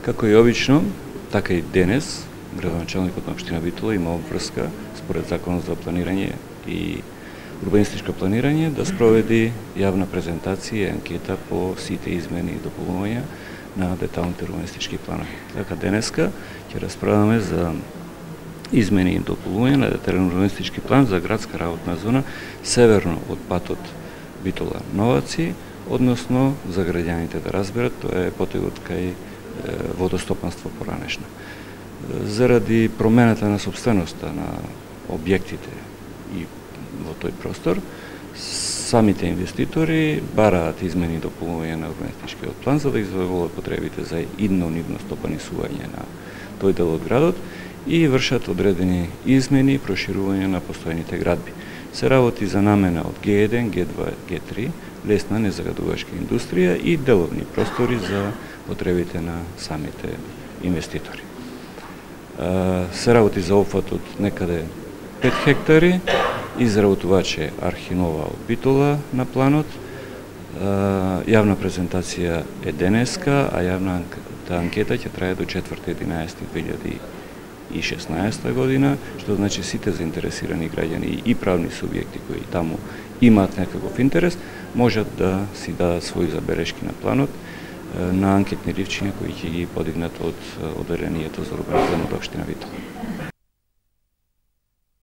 Како и обично, така и денес, градоначалникот на општина Битола има обврска според Законот за планирање и урбанистичко планирање да спроведи јавна презентација и анкета по сите измени и дополнувања на деталните урбанистички планови. Така денеска ќе расправаме за измени и дополнување на детален урбанистички план за градска работна зона северно од патот Битола Новаци, односно за граѓаните да разберат, тоа е потегот кај водостопанство поранешна. Заради промената на собственоста на објектите и во тој простор, самите инвеститори бараат измени и дополнување на урбанистичкиот план за да извоевуваат потребите за идно-нивно стопанисување на тој дел од градот и вршат одредени измени и проширување на постојните градби. Се работи за намена од Г1, Г2, Г3, лесна незагадувачка индустрија и деловни простори за потребите на самите инвеститори. Се работи за опфат од некаде 5 хектари, изработуваче Архинова од Битола на планот. Јавна презентација е денеска, а јавната анкета ќе трае до 4.11.2016 година, што значи сите заинтересирани граѓани и правни субјекти кои таму имаат некаков интерес, можат да си дадат своји забелешки на планот на анкетни ливчиња кои ќе ги подигнат од одделението за урбанизам од општина Битола.